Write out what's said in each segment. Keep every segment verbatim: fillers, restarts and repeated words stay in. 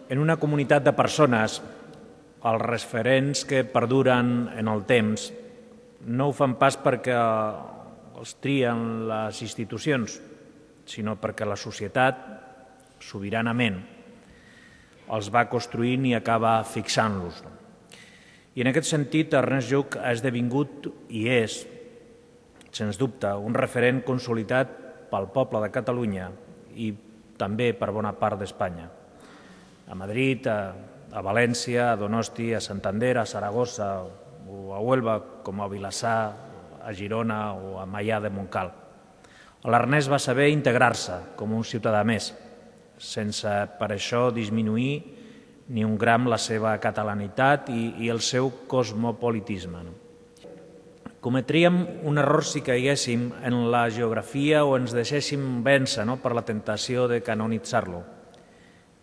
en una comunitat de persones, els referents que perduren en el temps no ho fan pas perquè els trien les institucions, sinó perquè la societat, sobiranament, els va construint i acaba fixant-los. I en aquest sentit, Ernest Lluch ha esdevingut i és, sens dubte, un referent consolidat pel poble de Catalunya i també per bona part d'Espanya. A Madrid, a, a València, a Donosti, a Santander, a Saragossa o a Huelva, com a Vilassar, a Girona o a Maià de Montcal. L'Ernest va saber integrar-se com un ciutadà més, sense per això disminuir ni un gram la seva catalanitat i, i el seu cosmopolitisme. Cometríem un error si caiguéssim en la geografia o ens deixéssim vèncer no, per la tentació de canonitzar-lo.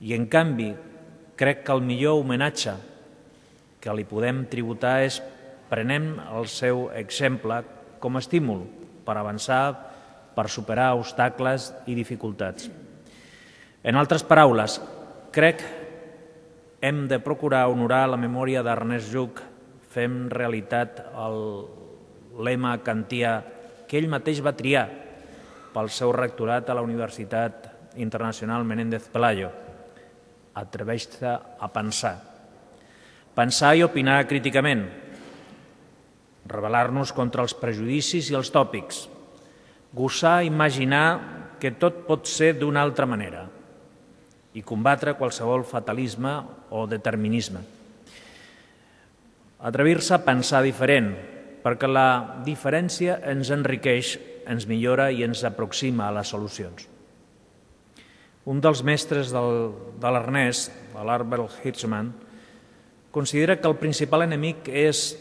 I, en canvi, crec que el millor homenatge que li podem tributar és prenem el seu exemple com a estímul per avançar, per superar obstacles i dificultats. En altres paraules, crec que hem de procurar honorar la memòria d'Ernest Lluch, fem realitat el lema kantià que ell mateix va triar pel seu rectorat a la Universitat Internacional Menéndez Pelayo. Atreveix-te a pensar. Pensar i opinar críticament. Rebel·lar-nos contra els prejudicis i els tòpics. Gosar imaginar que tot pot ser d'una altra manera i combatre qualsevol fatalisme o determinisme. Atrevir-se a pensar diferent, perquè la diferència ens enriqueix, ens millora i ens aproxima a les solucions. Un dels mestres del, de l'Ernest, l'Albert Hirschman, considera que el principal enemic és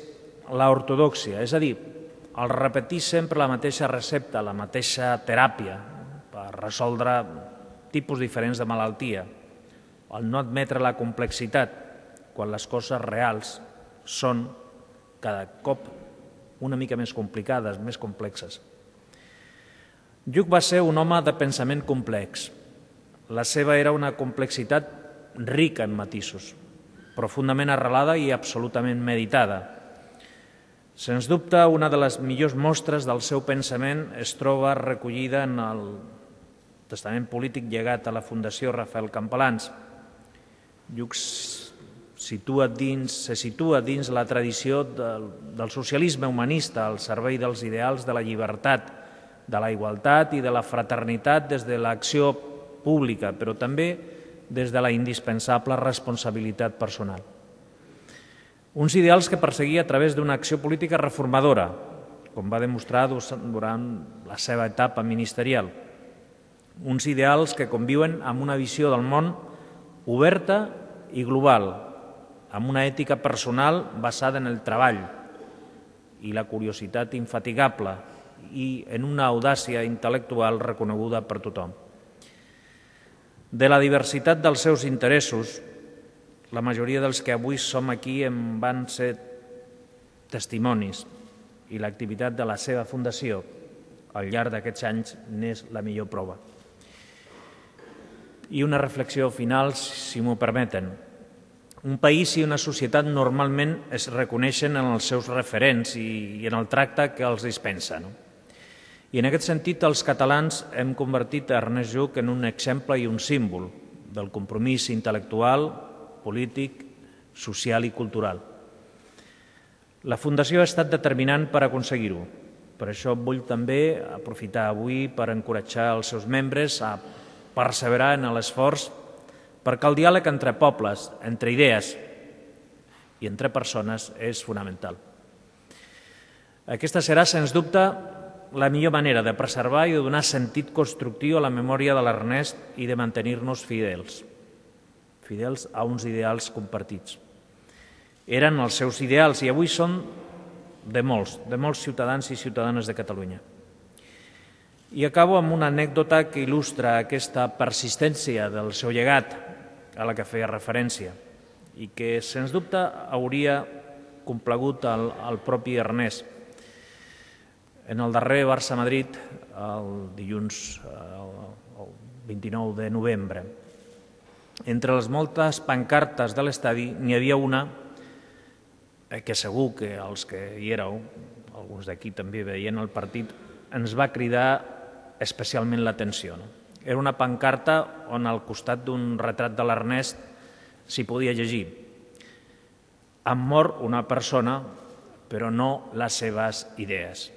l'ortodòxia, és a dir, el repetir sempre la mateixa recepta, la mateixa teràpia per resoldre tipus diferents de malaltia, el no admetre la complexitat quan les coses reals són cada cop una mica més complicades, més complexes. Lluch va ser un home de pensament complex. La seva era una complexitat rica en matisos, profundament arrelada i absolutament meditada. Sens dubte, una de les millors mostres del seu pensament es troba recollida en el testament polític llegat a la Fundació Rafael Campalans. Lluch situa dins, se situa dins la tradició del, del socialisme humanista al servei dels ideals de la llibertat, de la igualtat i de la fraternitat des de l'acció pública, però també des de la indispensable responsabilitat personal. Uns ideals que perseguia a través d'una acció política reformadora, com va demostrar durant la seva etapa ministerial. Uns ideals que conviuen amb una visió del món oberta i global, amb una ètica personal basada en el treball i la curiositat infatigable i en una audàcia intel·lectual reconeguda per tothom. De la diversitat dels seus interessos, la majoria dels que avui som aquí en van ser testimonis i l'activitat de la seva fundació al llarg d'aquests anys n'és la millor prova. I una reflexió final, si m'ho permeten. Un país i una societat normalment es reconeixen en els seus referents i en el tracte que els dispensa. No? I en aquest sentit, els catalans hem convertit Ernest Lluch en un exemple i un símbol del compromís intel·lectual, polític, social i cultural. La Fundació ha estat determinant per aconseguir-ho. Per això vull també aprofitar avui per encoratjar els seus membres a perseverar en l'esforç perquè el diàleg entre pobles, entre idees i entre persones és fonamental. Aquesta serà, sens dubte, la millor manera de preservar i de donar sentit constructiu a la memòria de l'Ernest i de mantenir-nos fidels, fidels a uns ideals compartits. Eren els seus ideals i avui són de molts, de molts ciutadans i ciutadanes de Catalunya. I acabo amb una anècdota que il·lustra aquesta persistència del seu llegat a la que feia referència i que, sens dubte, hauria complagut el, el propi Ernest. En el darrer Barça-Madrid, el dilluns el vint-i-nou de novembre, Entre les moltes pancartes de l'estadi n'hi havia una que segur que els que hi éreu, alguns d'aquí també veient el partit, ens va cridar especialment l'atenció. Era una pancarta on al costat d'un retrat de l'Ernest s'hi podia llegir: "Ha mort una persona, però no les seves idees".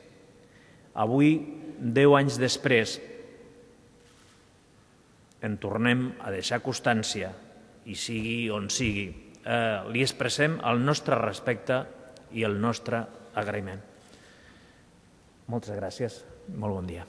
Avui, deu anys després, en tornem a deixar constància, i sigui on sigui, eh, li expressem el nostre respecte i el nostre agraïment. Moltes gràcies. Molt bon dia.